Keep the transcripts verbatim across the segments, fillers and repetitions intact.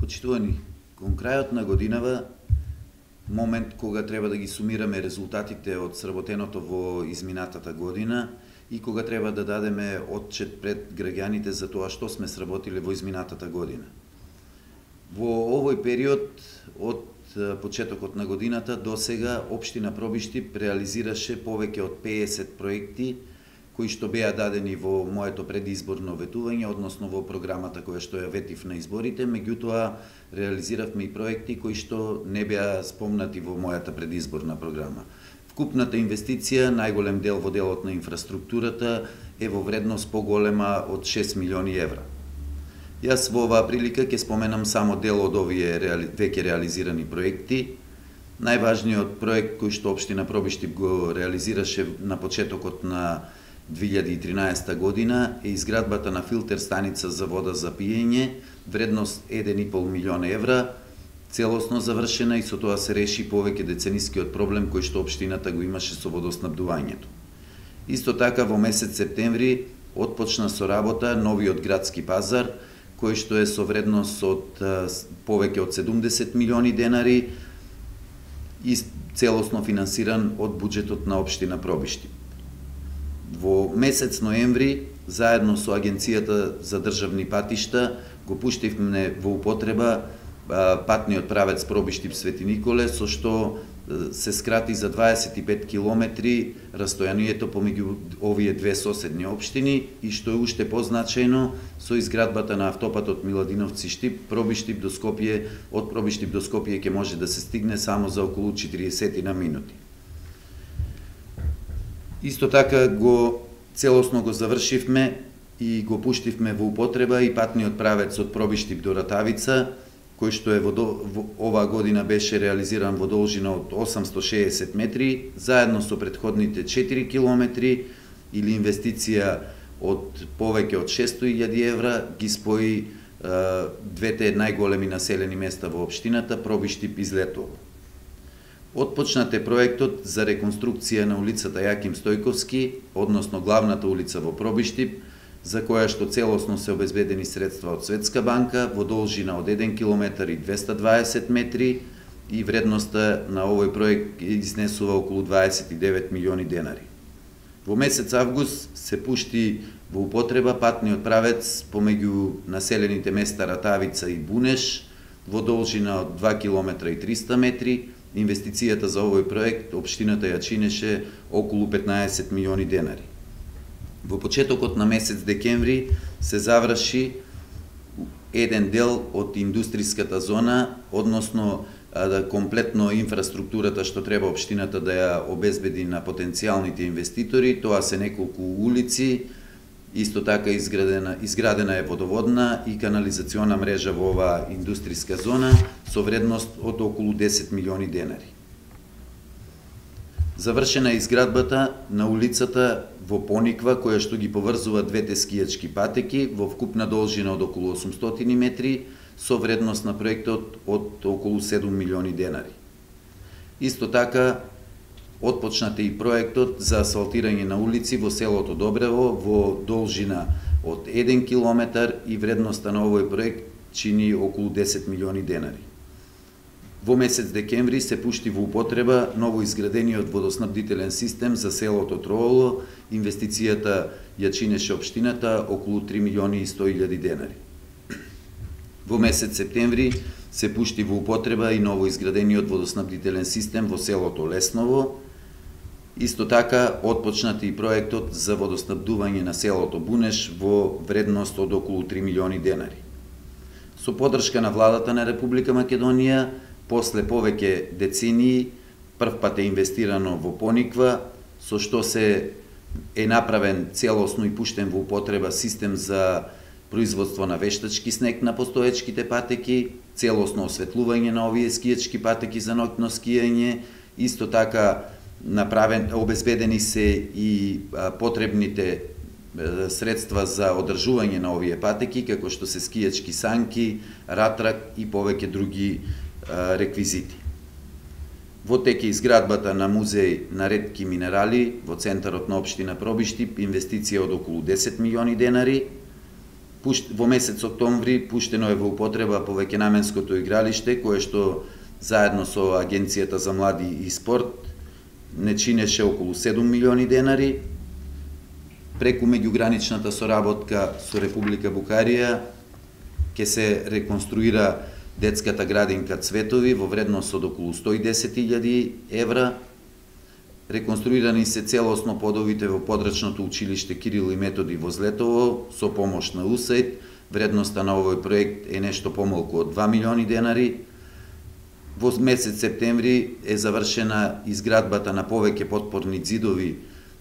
Почитувани, кон крајот на годинава, момент кога треба да ги сумираме резултатите од сработеното во изминатата година и кога треба да дадеме отчет пред граѓаните за тоа што сме сработиле во изминатата година. Во овој период, од почетокот на годината до сега, Општина Пробиштип реализираше повеќе од педесет проекти кои што беа дадени во моето предизборно ветување, односно во програмата која што ја ветив на изборите, меѓутоа реализиравме и проекти кои што не беа спомнати во мојата предизборна програма. Вкупната инвестиција, најголем дел во делот на инфраструктурата, е во вредност поголема од шест милиони евра. Јас во оваа прилика ќе споменам само дел од овие реали... веќе реализирани проекти. Најважниот проект кој што Општина Пробиштип го реализираше на почетокот на две илјади и тринаесета година е изградбата на филтер станица за вода за пиење, вредност еден и пол милион евра, целосно завршена и со тоа се реши повеќе деценискиот проблем кој што општината го имаше со водоснабдувањето. Исто така во месец септември отпочна со работа новиот градски пазар, кој што е со вредност од повеќе од седумдесет милиони денари и целосно финансиран од буџетот на Општина Пробиштип. Во месец ноември, заедно со Агенцијата за државни патишта, го пуштивме во употреба патниот правец Пробиштип Свети Николе, со што се скрати за дваесет и пет километри растојанието помеѓу овие две соседни општини и што е уште позначајно со изградбата на автопатот Миладиновци-Штип, Пробиштип до Скопје, од Пробиштип до Скопје ќе може да се стигне само за околу четириесет минути. Исто така го целосно го завршивме и го пуштивме во употреба и патниот правец од Пробиштип до Ратавица, кој што е во, во оваа година беше реализиран во должина од осамсто шеесет метри, заедно со претходните четири километри или инвестиција од повеќе од шестоста илјади евра, ги спои е, двете најголеми населени места во општината, Пробиштип и Злетово. Отпочнат е проектот за реконструкција на улицата Јаким Стојковски, односно главната улица во Пробиштип, за која што целосно се обезбедени средства од Светска банка во должина од еден километар и двесте дваесет метри и вредноста на овој проект изнесува околу дваесет и девет милиони денари. Во месец август се пушти во употреба патниот правец помеѓу населените места Ратавица и Бунеш во должина од два километра и триста метри. Инвестицијата за овој проект општината ја чинеше околу петнаесет милиони денари. Во почетокот на месец декември се заврши еден дел од индустријската зона, односно да комплетно инфраструктурата што треба општината да ја обезбеди на потенцијалните инвеститори. Тоа се неколку улици, исто така изградена, изградена е водоводна и канализациона мрежа во оваа индустријска зона со вредност од околу десет милиони денари. Завршена е изградбата на улицата во Пониква, која што ги поврзува двете скијачки патеки во вкупна должина од околу осумстотини метри, со вредност на проектот од околу седум милиони денари. Исто така, отпочнат е и проектот за асфалтирање на улици во селото Добрево во должина од еден километар и вредноста на овој проект чини околу десет милиони денари. Во месец декември се пушти во употреба ново изградениот водоснабдителен систем за селото Трооло. Инвестицијата ја чинеше општината околу три милиони и сто илјади денари. Во месец септември се пушти во употреба и ново изградениот водоснабдителен систем во селото Лесново. Исто така отпочнат и проектот за водоснабдување на селото Бунеш во вредност од околу три милиони денари. Со поддршка на владата на Република Македонија, после повеќе децении, прв пат е инвестирано во Пониква, со што се е направен целосно и пуштен во употреба систем за производство на вештачки снег на постоечките патеки, целосно осветлување на овие скијачки патеки за ноќно скијање, исто така направен, обезбедени се и потребните средства за одржување на овие патеки, како што се скијачки санки, ратрак и повеќе други реквизити. Во тек е изградбата на музеј на ретки минерали во центарот на општина Пробиштип, инвестиција од околу десет милиони денари. во месец октомври пуштено е во употреба повеќенаменското игралиште, кое што заедно со Агенцијата за млади и спорт не чинеше околу седум милиони денари. Преку меѓуграничната соработка со Република Букарија ќе се реконструира детската градинка Цветови во вредност од околу сто и десет илјади евра. Реконструирани се целосно подовите во подрачното училиште Кирил и Методи во Злетово со помош на УСАИД. Вредноста на овој проект е нешто помалку од два милиони денари. Во месец септември е завршена изградбата на повеќе потпорни ѕидови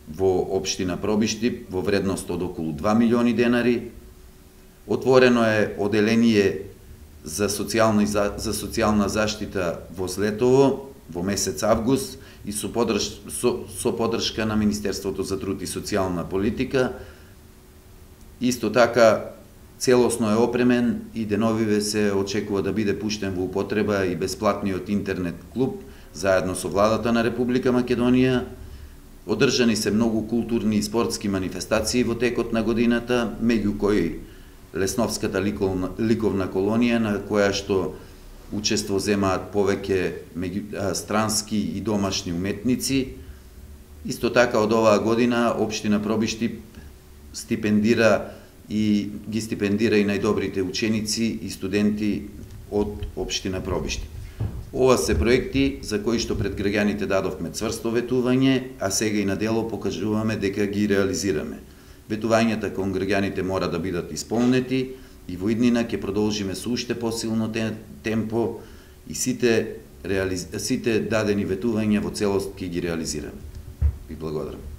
во општина Пробишти во вредност од околу два милиони денари. Отворено е оделение за социјална за социјална заштита во Злетово во месец август и со подрж, со, со поддршка на Министерството за труд и социјална политика. Исто така целосно е опремен и деновиве се очекува да биде пуштен во употреба и бесплатниот интернет клуб заедно со владата на Република Македонија. Одржани се многу културни и спортски манифестации во текот на годината, меѓу кои Лесновската ликовна, ликовна колонија, на која што учество земаат повеќе странски и домашни уметници. Исто така од оваа година општина Пробишти стипендира и ги стипендира и најдобрите ученици и студенти од општина Пробишти. Ова се проекти за кои што пред граѓаните дадовме цврсто ветување, а сега и на дело покажуваме дека ги реализираме. Ветувањата кон граѓаните мора да бидат исполнети и во иднина ќе продолжиме со уште посилно темпо и сите, реализ... сите дадени ветувања во целост ќе ги реализираме. Ви благодарам.